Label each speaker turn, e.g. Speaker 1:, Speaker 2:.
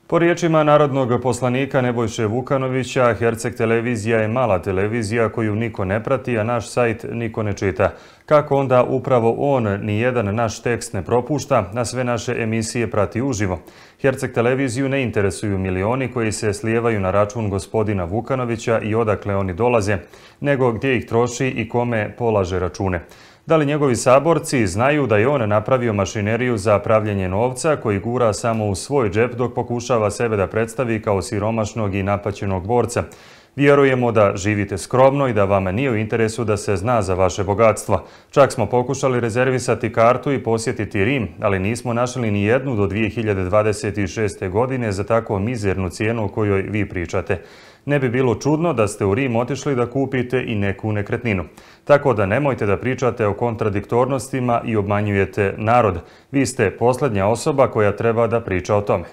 Speaker 1: Po riječima narodnog poslanika Nebojše Vukanovića, Herceg televizija je mala televizija koju niko ne prati, a naš sajt niko ne čita. Kako onda upravo on nijedan naš tekst ne propušta, a sve naše emisije prati uživo? Herceg televiziju ne interesuju milioni koji se slijevaju na račun gospodina Vukanovića i odakle oni dolaze, nego gdje ih troši i kome polaže račune. Da li njegovi saborci znaju da je on napravio mašineriju za pravljenje novca koji gura samo u svoj džep dok pokušava sebe da predstavi kao siromašnog i napaćenog borca? Vjerujemo da živite skromno i da vama nije u interesu da se zna za vaše bogatstvo. Čak smo pokušali rezervisati kartu i posjetiti Rim, ali nismo našli ni jednu do 2026. godine za tako mizernu cijenu o kojoj vi pričate. Ne bi bilo čudno da ste u Rim otišli da kupite i neku nekretninu. Tako da nemojte da pričate o kontradiktornostima i obmanjujete narod. Vi ste posljednja osoba koja treba da priča o tome.